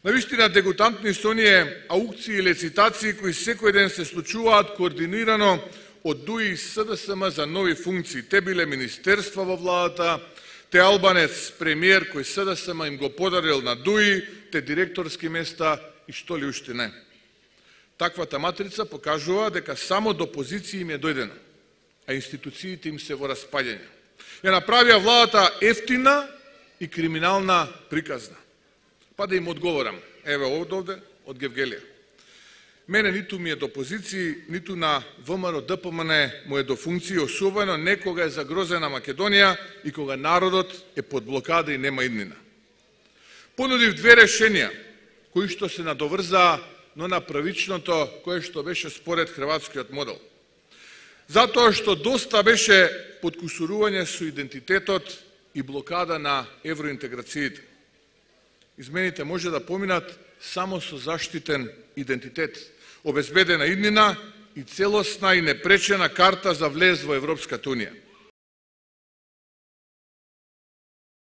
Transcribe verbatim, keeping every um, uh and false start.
Навистина дегутантни се оние аукции и лецитации кои секој ден се случуваат координирано од ДУИ и СДСМ за нови функции. Те биле министерства во владата, те албанец премиер кој СДСМ им го подарил на ДУИ, те директорски места и што ли уште не. Таквата матрица покажува дека само до позиции им е дојдено, а институциите им се во распаѓање. Ја направија владата ефтина и криминална приказна. Па да им одговорам, еве овде, од Гевгелија. Мене ниту ми е до позиции, ниту на ВМРО ДПМН му е до функции, особено не кога е загрозена Македонија и кога народот е под блокада и нема иднина. Понудив две решенија, кои што се надоврзаа, но на правичното, кое што беше според хрватскиот модел. Затоа што доста беше подкусурување со идентитетот и блокада на евроинтеграциите. Измените може да поминат само со заштитен идентитет, обезбедена иднина и целосна и непречена карта за влез во Европската унија.